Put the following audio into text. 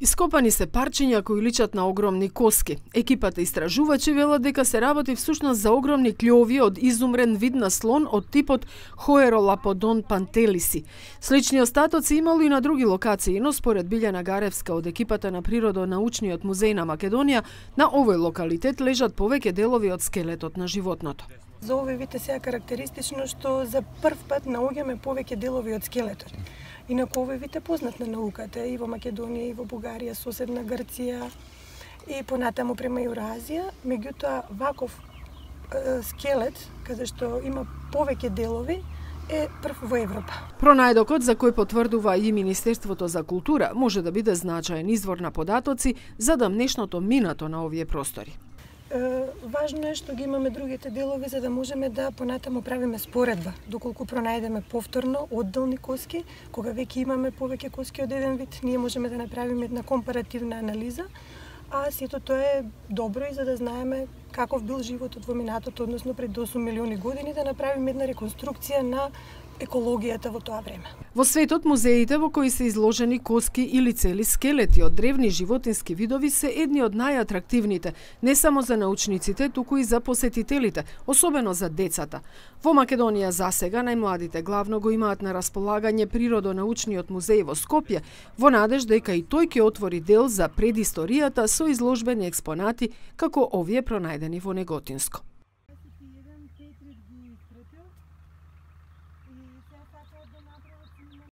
Ископани се парчиња кои личат на огромни коски. Екипата истражувачи велат дека се работи всушност за огромни клјови од изумрен вид на слон од типот Hoerolapodon pantelici. Слични остатоци имало и на други локации, но според Билјана Гаревска од екипата на Природонаучниот музеј на Македонија, на овој локалитет лежат повеќе делови од скелетот на животното. За овој вид е сега карактеристично што за прв пат наоѓаме повеќе делови од скелетот. Инаку овој вид е познат на науката и во Македонија, и во Бугарија, соседна Грција и понатаму према Јуразија. Меѓутоа, ваков скелет, каде што има повеќе делови, е прв во Европа. Пронајдокот, за кој потврдува и Министерството за култура, може да биде значаен извор на податоци за дамнешното минато на овие простори. Важно е што ги имаме другите делови за да можеме да понатаму правиме споредба. Доколку пронајдеме повторно одделни коски, кога веќе имаме повеќе коски од еден вид, ние можеме да направиме една компаративна анализа, а сето тоа е добро и за да знаеме каков бил животот во минатото, односно пред 8 милиони години, да направиме една реконструкција на екологијата во тоа време. Во светот, музеите во кои се изложени коски или цели скелети од древни животински видови се едни од најатрактивните, не само за научниците, туку и за посетителите, особено за децата. Во Македонија засега најмладите главно го имаат на располагање Природонаучниот музеј во Скопје, во надеж дека и тој ќе отвори дел за предисторијата со изложбени експонати како овие пронајдени во Неготинско.